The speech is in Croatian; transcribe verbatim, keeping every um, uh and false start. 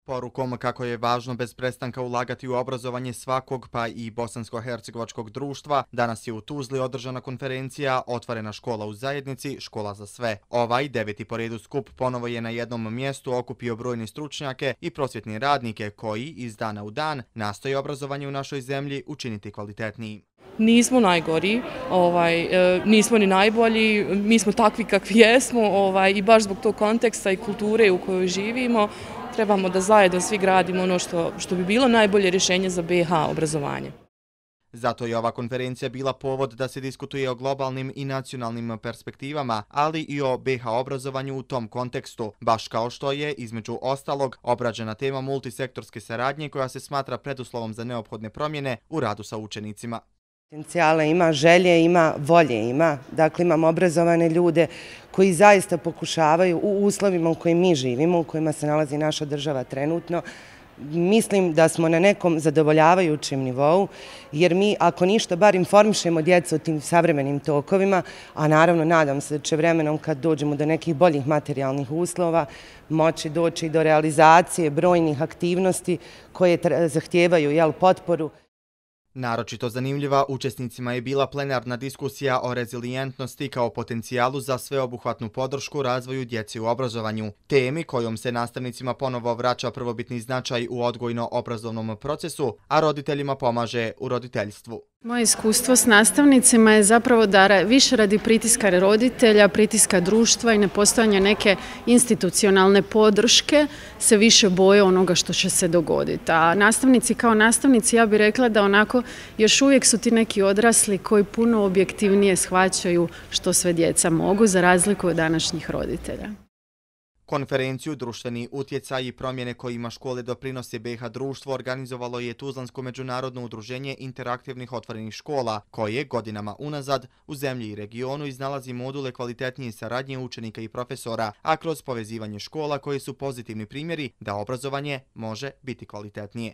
Porukom kako je važno bez prestanka ulagati u obrazovanje svakog, pa i bosansko-hercegovačkog društva, danas je u Tuzli održana konferencija Otvorena škola u zajednici, škola za sve. Ovaj deveti po redu skup ponovo je na jednom mjestu okupio brojne stručnjake i prosvjetne radnike koji iz dana u dan nastoje obrazovanje u našoj zemlji učiniti kvalitetniji. Nismo najgori, ovaj, e, nismo ni najbolji, mi smo takvi kakvi jesmo ovaj, i baš zbog tog konteksta i kulture u kojoj živimo trebamo da zajedno svi gradimo ono što, što bi bilo najbolje rješenje za B iH obrazovanje. Zato je ova konferencija bila povod da se diskutuje o globalnim i nacionalnim perspektivama, ali i o B iH obrazovanju u tom kontekstu, baš kao što je, između ostalog, obrađena tema multisektorske saradnje koja se smatra preduslovom za neophodne promjene u radu sa učenicima. Potencijale ima, želje ima, volje ima. Dakle, imamo obrazovane ljude koji zaista pokušavaju u uslovima u kojima mi živimo, u kojima se nalazi naša država trenutno. Mislim da smo na nekom zadovoljavajućem nivou, jer mi, ako ništa, bar informišemo djecu o tim savremenim tokovima, a naravno nadam se da će vremenom kad dođemo do nekih boljih materijalnih uslova moći doći do realizacije brojnih aktivnosti koje zahtijevaju jel, potporu. Naročito zanimljiva učesnicima je bila plenarna diskusija o rezilijentnosti kao potencijalu za sveobuhvatnu podršku razvoju djece u obrazovanju, temi kojom se nastavnicima ponovo vraća prvobitni značaj u odgojno-obrazovnom procesu, a roditeljima pomaže u roditeljstvu. Moje iskustvo s nastavnicima je zapravo da više radi pritiska roditelja, pritiska društva i nepostojanja neke institucionalne podrške se više boje onoga što će se dogoditi. A nastavnici kao nastavnici, ja bih rekla da onako još uvijek su ti neki odrasli koji puno objektivnije shvaćaju što sve djeca mogu za razliku od današnjih roditelja. Konferenciju Društveni utjecaj i promjene kojima škole doprinose B iH društvo organizovalo je Tuzlansko međunarodno udruženje interaktivnih otvorenih škola, koje godinama unazad u zemlji i regionu iznalazi module kvalitetnije saradnje učenika i profesora, a kroz povezivanje škola koje su pozitivni primjeri da obrazovanje može biti kvalitetnije.